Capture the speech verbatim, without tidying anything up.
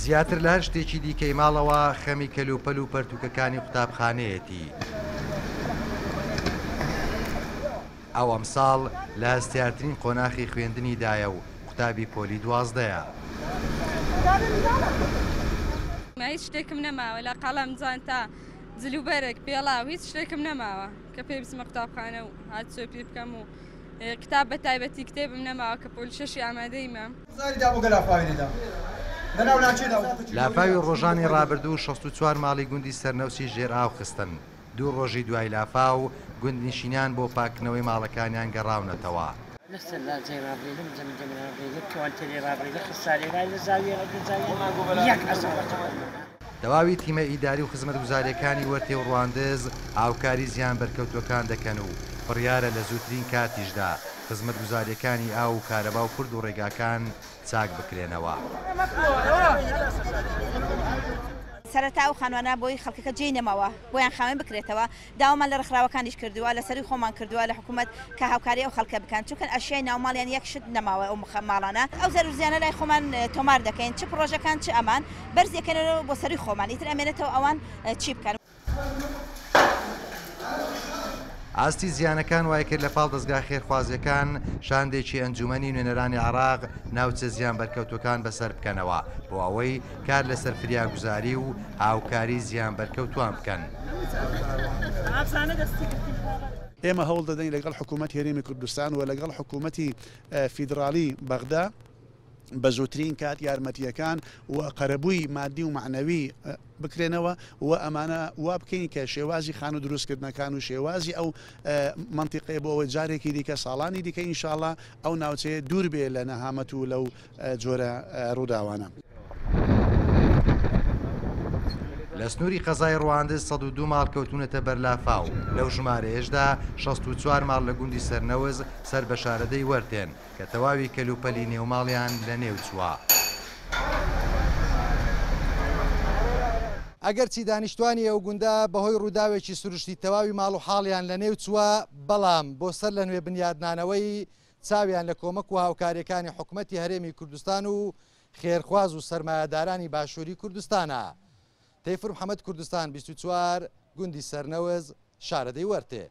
زیاتر لە هەر شتێکی دیکەی ماڵەوە خەمی کەلوپەل و پەرتوکەکانی قوتابخانەیەتی. ئەو ئەمساڵ لە هەستیارترین قۆناخی خوێندنیدایە و قوتابی پۆلی دوازدەیە. هیچ شتێکم نەماوە، لە قەڵەم، جانتا، جلوبەرگ، پێڵاو، هیچ شتێکم نەماوە کە پێی بچمە قوتابخانە و هاتوچۆ پێ بکەم و کتاب بە تایبەتی کتێبم نەماوە کە پۆلی شەشی ئامادەیمە. لافاوی ڕۆژانی ڕابردوو شەست و چوار ماڵی گوندی سەرنەوسی ژێر ئاو خستن. دوو ڕۆژی دوای لافاو گوندنشینان بۆ پاکردنەوەی ماڵەکانیان گەڕاونەتەوە. تەواوی تیمە ئیداری و خزمەتگوزاریەکانی وەرتێ و ڕواندز هاوکاری زیان بەرکەوتوەکان دەکەن و بڕیارە لە زووترین کاتیشدا خزمەتگوزاریەکانی ئاو و کارەبا و پرد و ڕێگاکان چاک بکرێنەوە. سەرەتا ئەو خانوانە بۆی خەڵکەکە جێی نەماوە، بۆیان خاوێن بکرێتەوە. داوامان لە ڕێکخراوەکانیش کردووە، لە سەروی خۆمان کردووە، لە حکوومەت کە هاوکاری ئەو خەڵکە بکەن، چونکە ئەشیای ناوماڵیان یەک شت نەماوە ئەو ماڵانە. ئەو زەرورزیانە لای خۆمان تۆمار دەکەین، چ پرۆژەکان چ ئەمان بەرزیەکەنەوە بۆ سەروی خۆمان، ئیتر ئەمێنێتەوە ئەوان چی بکەن. ئاستی زیانەکان وای کرد لە پاڵ دەستگا خێرخوازیەکان شاندێکی ئەنجومەنی نوێنەرانی عێراق ناوچە زیان بەرکەوتوەکان بەسەر بکەنەوە بۆ ئەوەی کار لەسەر فریاگوزاری و هاوکاری زیان بەرکەوتوان بکەن. ئێمە هەوڵ دەدەین لەگەڵ حکوومەت هەرێمی کوردستان و لەگەڵ حکوومەتی فیدراڵی بەغدا بە زووترین کات یارمەتیەکان و قەرەبووی مادی و معنەوی بکرێنەوە و ئەمانە وا بکەین کە شێوازی خان و دروستکردنەکان و شێوازی ئەو منطقەیە بۆ ئەوەی جارێکی دیکە ساڵانی دیکە ئینشاءڵڵا ئەو ناوچەیە دوور بێ لە نەهامەت و لەو جۆرە ڕووداوانە. لە سنووری قەزای ڕواندز سەد و دوو ماڵ کەوتونەتە بەرلافاو، لەو ژمارەیەشدا شەست و چوار ماڵ لە گوندی سەرنەوز سەر بە شارەدەی وەرتێن کە تەواوی کەلوپەلی نێوماڵیان لەنێو چووە. ئەگەرچی دانیشتوانی ئەو گوندە بەهۆی ڕووداوێکی سروشتی تەواوی ماڵ و حاڵیان لەنێو چووە، بەڵام بۆ سەر لە نوێ بنیادنانەوەی چاویان لە کۆمەک و هاوکاریەکانی حکوومەتی هەرێمی کوردستان و خێرخواز و سەرمایەدارانی باشووری کوردستانە. تەیفور محەممەد، کوردستان بیست و چوار، گوندی سەرنەوز، شارەدەی وەرتێ.